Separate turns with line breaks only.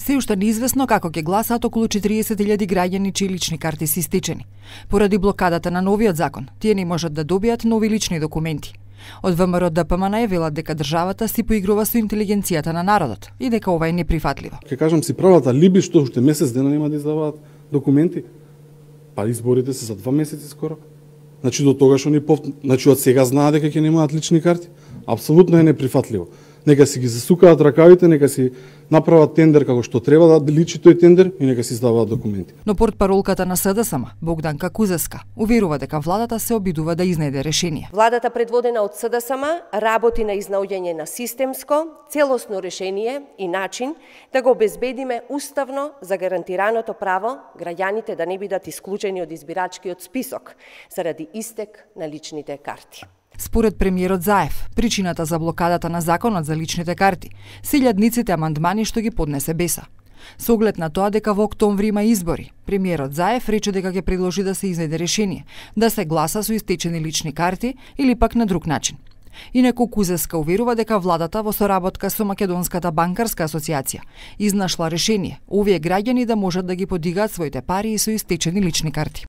Се уште неизвестно како ќе гласаат околу 40.000 граѓани чии лични карти се истечени. Поради блокадата на новиот закон, тие не можат да добијат нови лични документи. Од ВМРО ДПМН велат дека државата си поигрува со интелигенцијата на народот и дека ова е неприфатливо.
Ке кажам си правата либи што уште месец дена нема да издаваат документи. Па изборите се за 2 месеци скоро. Значи до тогаш значи од сега знаат дека ќе немаат лични карти. Апсолутно е неприфатливо. Нека си ги засукаат ракавите, нека си направат тендер како што треба да личи тој тендер и нека си издаваат документи.
Но портпаролката на СДСМ, Богданка Кузевска, уверува дека владата се обидува да изнајде решение.
Владата предводена од СДСМ работи на изнаоѓање на системско, целосно решение и начин да го обезбедиме уставно загарантираното право граѓаните да не бидат исклучени од избирачкиот список заради истек на личните карти.
Според премиерот Заев, причината за блокадата на законот за личните карти се илјадниците амандмани што ги поднесе БЕСА. Со оглед на тоа дека во октомври има избори, премиерот Заев рече дека ќе предложи да се изнајде решение, да се гласа со истечени лични карти или пак на друг начин. Инаку Кузевска уверува дека владата во соработка со Македонската банкарска асоциација изнашла решение овие граѓани да можат да ги подигаат своите пари и со истечени лични карти.